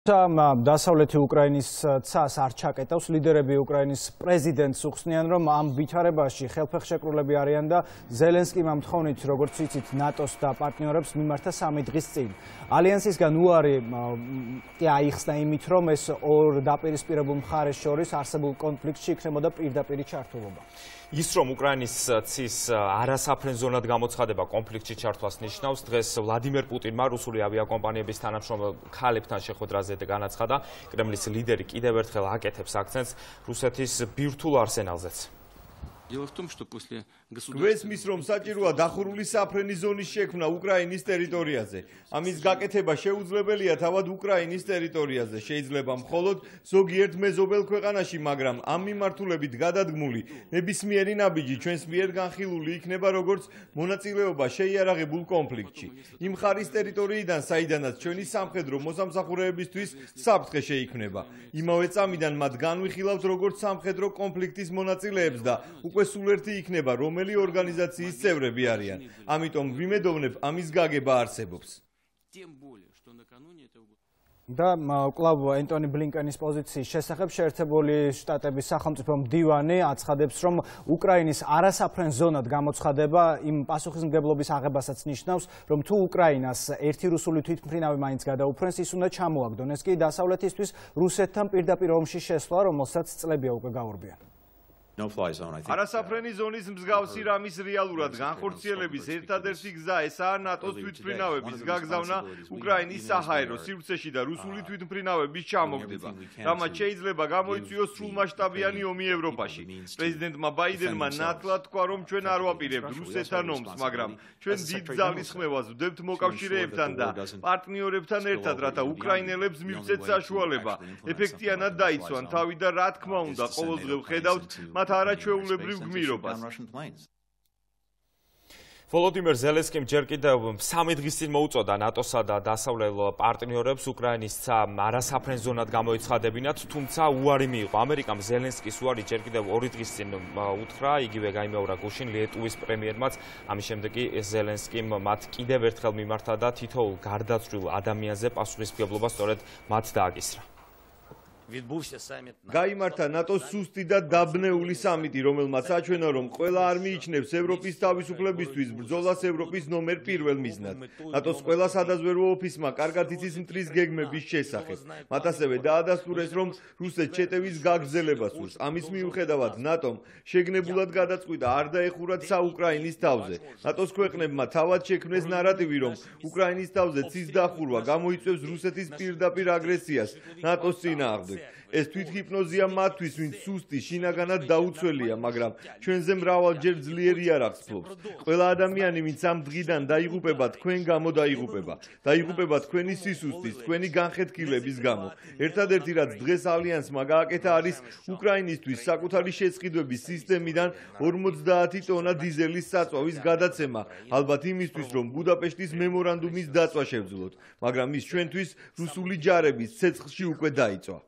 დასავლეთი უკრაინის ცას არ ჩაკეტავს, ლიდერები უკრაინის პრეზიდენტს უხსნიან, რომ ამ ვითარებაში ხელფეხშეკრულები არიან და ზელენსკიმ ამ თხოვნით, როგორც ვიცით, ნატოს და პარტნიორებს მიმართა 3 დღის წინ. ალიანსისგან უარი კი აიხსნა იმით, რომ ეს ორ დაპირისპირებულ მხარეს შორის არსებულ კონფლიქტში იქნებოდა პირდაპირი ჩართულობა. ის რომ უკრაინის ცის არასაფრენ ზონად გამოცხადება კონფლიქტში ჩართვას ნიშნავს, დღეს ვლადიმერ პუტინმა რუსული ავიაკომპანიების თანამშრომელ ქალებთან შეხვედრაზე განაცხადა, კრემლის ლიდერი კიდევ ერთხელ აკეთებს აქცენტს რუსეთის ბირთვულ არსენალზეც. გვესმის, რომ საჭიროა დახურული საფრენი ზონის შექმნა უკრაინის ტერიტორიაზე. ამის გაკეთება შეუძლებელია თავად უკრაინის ტერიტორიაზე. შეიძლება მხოლოდ ზოგიერთ მეზობელ ქვეყანაში, მაგრამ ამ მიმართულებით გადადგმული ნებისმიერი ნაბიჯი ჩვენს მიერ განხილული იქნება როგორც მონაწილეობა შეიარაღებულ კონფლიქტში. იმ მხარის ტერიტორიიდან, საიდანაც ჩვენი სამხედრო მოსამსახურეებისთვის საფრთხე შეიქმნება. იმავე წამიდან მათ განვიხილავთ როგორც სამხედრო კონფლიქტის მონაწილეებს და უკვე სულ ერთი იქნება, რომელი ორგანიზაციის წევრები არიან. ამიტომ ვიმედოვნებ, ამის გაგება არსებობს. და კლავ ენტონი ბლინკენის პოზიციის შესახებ შეერთებული შტატების სახელმწიფო მდივანი აცხადებს, რომ უკრაინის არასაფრენ ზონად გამოცხადება იმ პასუხისმგებლობის აღებასაც ნიშნავს, რომ თუ უკრაინას ერთი რუსული თვითმფრინავი მაინც გადაუფრენს, ის უნდა ჩამოაგდონ. ეს კი დასავლეთისთვის რუსეთთან პირდაპირ ომში შესვლა, რომელსაც წლებია უკვე გაურბიან. არასაფრენი ზონის მსგავსი რამის რეალურად განხორციელების ერთადერთი გზა ესაა ნატოს თვითმფრინავების გაგზავნა უკრაინის საჰაერო სივრცეში და რუსული თვითმფრინავების ჩამოგდება. რამაც შეიძლება გამოიწვიოს სრულმასშტაბიანი ომი ევროპაში. პრეზიდენტმა ბაიდენმა ნათლად თქვა, რომ ჩვენ არ ვაპირებთ რუსეთთან ომს, მაგრამ ჩვენ დიდ ძალისხმევას ვდებთ მოკავშირეებთან და პარტნიორებთან ერთად, რათა უკრაინელებს მივცეთ საშუალება ეფექტიანად დაიცვან თავი და რა თქმა უნდა, ყოველდღე ვხედავთ არაჩვეულებრივ გმირობას. ვოლოდიმერ ზელენსკიმ ჯერ კიდევ 3 დღის წინ მოუწოდა ნატოსა და დასავლელ პარტნიორებს უკრაინის არასაფრენ ზონად გამოეცხადებინათ, თუმცა უარი მიიღო. ამერიკამ ზელენსკის უარი ჯერ კიდევ 2 დღის წინ უთხრა, იგივე გაიმეორა გუშინ ლიეტუვის პრემიერმაც. ამის შემდეგ კი ზელენსკიმ მათ კიდევ ერთხელ მიმართა და თითოეულ გარდაცვლილ ადამიანზე პასუხისმგებლობა სწორედ მათ დააკისრა. გაიმართა ნატოს სუსტი და დაბნეული სამიტი, რომელმაც აჩვენა, რომ ყველა არ მიიჩნევს ევროპის თავისუფლებისთვის ბრძოლას ევროპის ნომერ 1 მიზნად. ნატოს ყველა სადაზვერვო ოფისმა კარგად იცის მტრის გეგმების შესახებ. მათ ასევე დაადასტურეს, რომ რუსეთს შეტევის გაგრძელება სურს. ამის მიუხედავად ნატომ შეგნებულად გადაწყვიტა არ დაეხურათ საუკრაინის თავზე. ნატოს ქვეყნებმა თავად შექმნეს ნარატივი, რომ უკრაინის თავზე ცის დახურვა გამოიწვევს რუსეთის პირდაპირ აგრესიას ნატოს წინააღმდეგ. ეს თვითჰიპნოზია მათთვის, ვინც სუსტი შინაგანად დაუცველია, მაგრამ ჩვენზე მრავალჯერ ძლიერი იარაღს ფლობს. ყველა ადამიანი, ვინც ამ დღიდან დაიღუპება, თქვენ გამო დაიღუპება. დაიღუპება თქვენი სისუსტის, თქვენი განხეთქილების გამო. ერთადერთი რაც დღეს ალიანსმა გააკეთა არის უკრაინისთვის საკუთარი შესყიდვების სისტემიდან 50 ტონა დიზელის საწვავის გადაცემა, ალბათ იმისთვის, რომ ბუდაპეშტის მემორანდუმის დაწვა შევძლოთ, მაგრამ ის ჩვენთვის რუსული ჯარების ცეცხლში უკვე დაიწვა.